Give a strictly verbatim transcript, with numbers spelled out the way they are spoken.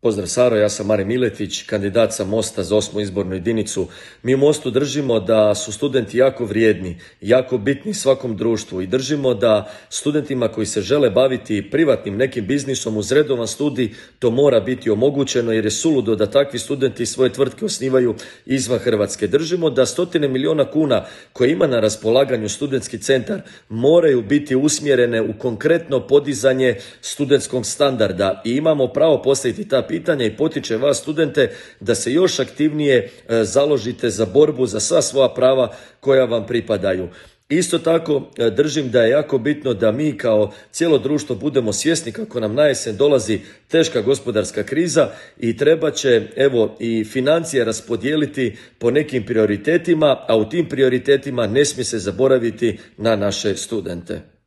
Pozdrav Saro, ja sam Marin Miletić, kandidat sa Mosta za osmu izbornu jedinicu. Mi u Mostu držimo da su studenti jako vrijedni, jako bitni svakom društvu i držimo da studentima koji se žele baviti privatnim nekim biznisom uz redovan studij to mora biti omogućeno jer je suludo da takvi studenti svoje tvrtke osnivaju izvan Hrvatske. Držimo da stotine miliona kuna koje ima na raspolaganju studentski centar moraju biti usmjerene u konkretno podizanje studentskog standarda i imamo pravo postaviti ta pitanja i potiče vas studente da se još aktivnije e, založite za borbu za sva svoja prava koja vam pripadaju. Isto tako držim da je jako bitno da mi kao cijelo društvo budemo svjesni kako nam na jesen dolazi teška gospodarska kriza i treba će evo i financije raspodijeliti po nekim prioritetima, a u tim prioritetima ne smije se zaboraviti na naše studente.